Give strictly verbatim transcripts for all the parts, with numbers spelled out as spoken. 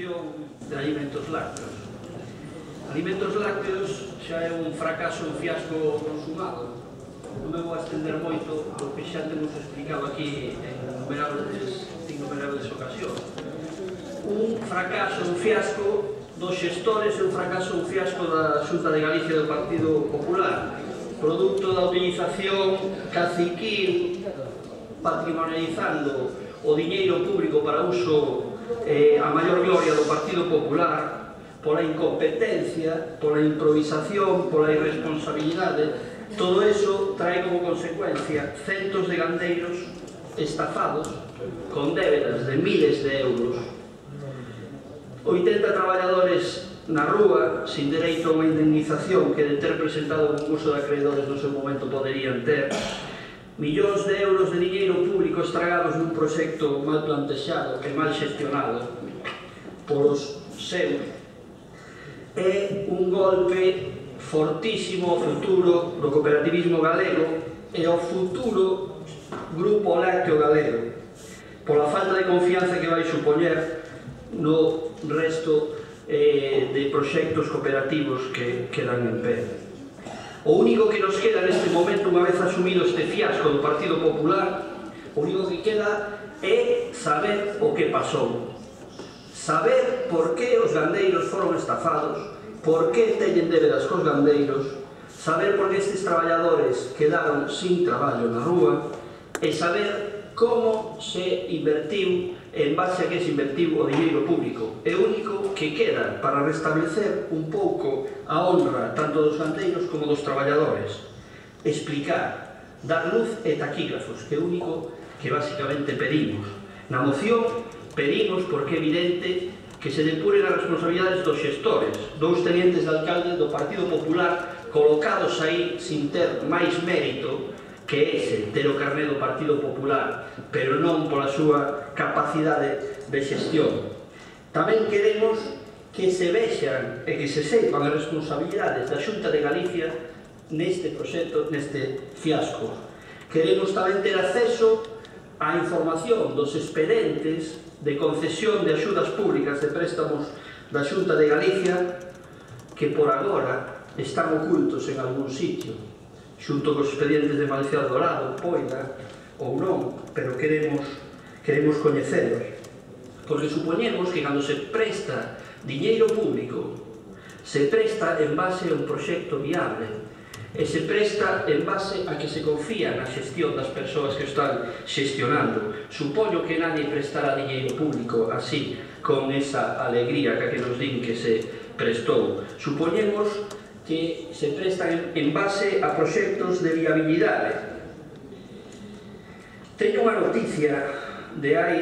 promoción de alimentos lácteos. Alimentos lácteos xa é un fracaso, un fiasco consumado. Non me vou a estender moito, porque xa temos explicado aquí en innumerables, innumerables ocasións. Un fracaso, un fiasco dos xestores e un fracaso, un fiasco da Xunta de Galicia do Partido Popular, producto da utilización caciquil, patrimonializando o diñeiro público para uso eh, a maior gloria do Partido Popular, pola incompetencia, pola improvisación, pola irresponsabilidade. Todo eso trae como consecuencia centos de gandeiros estafados con débedas de miles de euros, oitenta traballadores na rúa sin dereito a unha indemnización que de ter presentado un concurso de acreedores no seu momento poderían ter, millóns de euros de diñeiro público estragados nun proxecto mal plantexado e mal xestionado polos seus. É un golpe fortísimo ao futuro do cooperativismo galego e ao futuro grupo lácteo galego, pola falta de confianza que vai supoñer no resto eh, de proxectos cooperativos que quedan en pé. O único que nos queda neste momento, unha vez asumido este fiasco do Partido Popular, o único que queda é saber o que pasou. Saber por que os gandeiros foron estafados, por que teñen débedas cos gandeiros, saber por que estes traballadores quedaron sin traballo na rúa e saber como se invertiu, en base a que se invertiu o diñeiro público. É o único que queda para restablecer un pouco a honra tanto dos gandeiros como dos traballadores. Explicar, dar luz e taquígrafos, que é o único que basicamente pedimos. Na moción pedimos, porque é evidente, que se depuren as responsabilidades dos xestores, dous tenientes de alcalde do Partido Popular colocados aí sin ter máis mérito que ese, ter o carné do Partido Popular, pero non pola súa capacidade de xestión. Tamén queremos que se vexan e que se sepan as responsabilidades da Xunta de Galicia neste proxecto, neste fiasco. Queremos tamén ter acceso á información dos expedientes de concesión de axudas públicas de préstamos da Xunta de Galicia que por agora están ocultos en algún sitio, xunto cos expedientes de Malcial Dorado, Poida ou non, pero queremos, queremos coñecelos, porque supoñemos que cando se presta diñeiro público se presta en base a un proxecto viable e se presta en base a que se confía na xestión das persoas que o están xestionando. Supoño que nadie prestará diñeiro público así, con esa alegría que nos din que se prestou. Supoñemos que se prestan en base a proxectos de viabilidade. Teño unha noticia de hai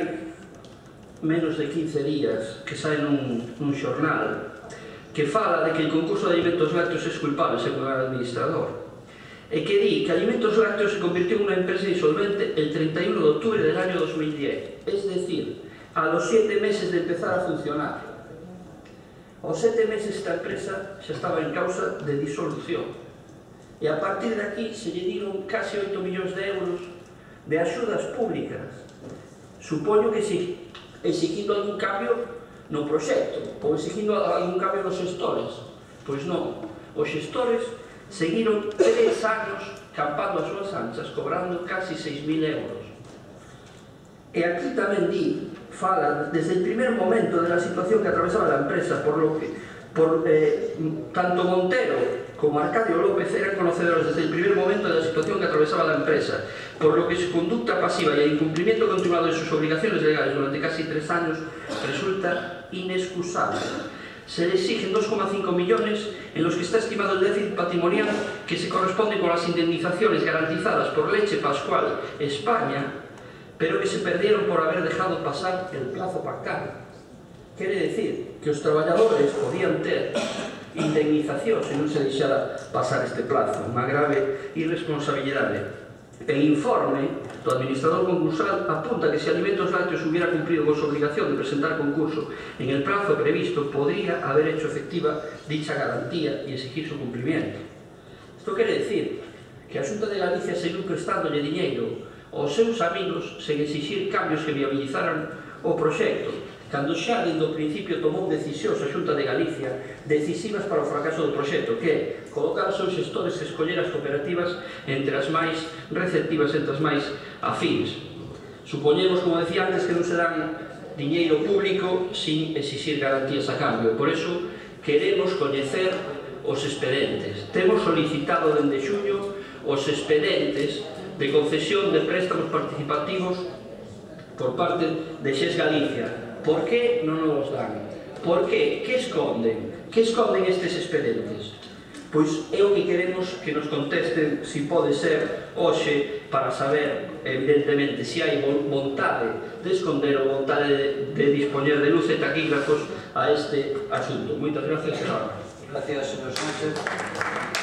menos de quince días que sai nun, nun xornal que fala de que el concurso de alimentos lácteos es culpable, según el administrador, e que di que Alimentos Lácteos se convirtió en una empresa insolvente el treinta y uno de octubre del año dos mil diez, es decir, a los siete meses de empezar a funcionar. Aos sete meses esta empresa xa estaba en causa de disolución, e a partir de aquí se lle dieron casi oito millóns de euros de axudas públicas. Supoño que si exigindo algún cambio no proxecto, ou exigindo algún cambio nos xestores. Pois non, os xestores seguiron tres anos campando as súas anchas, cobrando casi seis mil euros. E aquí tamén di, fala desde el primer momento de la situación que atravesaba la empresa, por lo que por, eh, tanto Montero como Arcadio López eran conocedores desde el primer momento de la situación que atravesaba la empresa, por lo que su conducta pasiva y el incumplimiento continuado de sus obligaciones legales durante casi tres años resulta inexcusable. Se le exigen dos coma cinco millones en los que está estimado el déficit patrimonial que se corresponde con las indemnizaciones garantizadas por Leche Pascual España, pero que se perdieron por haber dejado pasar el plazo pactado. Quere decir que os traballadores podían ter indemnización se non se deixara pasar este plazo, unha grave irresponsabilidade. El informe do administrador concursal apunta que se Alimentos Lácteos hubiera cumplido con su obligación de presentar concurso en el plazo previsto, podría haber hecho efectiva dicha garantía y exigir su cumplimiento. Isto quere decir que a Xunta de Galicia seguiu prestándolle diñeiro aos seus amigos sen exixir cambios que viabilizaran o proxecto, cando xa dende o principio tomou decisións a Xunta de Galicia decisivas para o fracaso do proxecto, que é colocar os seus xestores e escoller as cooperativas entre as máis receptivas, entre as máis afines. Supoñemos, como decía antes, que non se dan diñeiro público sin exixir garantías a cambio, e por eso queremos coñecer os expedentes. Temos solicitado dende xuño os expedentes de concesión de préstamos participativos por parte de Xes Galicia. Por que non nos dan? Por que? Que esconden? Que esconden estes expedentes? Pois é o que queremos que nos contesten, se pode ser hoxe, para saber, evidentemente, se hai vontade de esconder ou vontade de, de dispoñer de luz e taquígrafos a este asunto. Moitas gracias, señora. Gracias, señor Sánchez.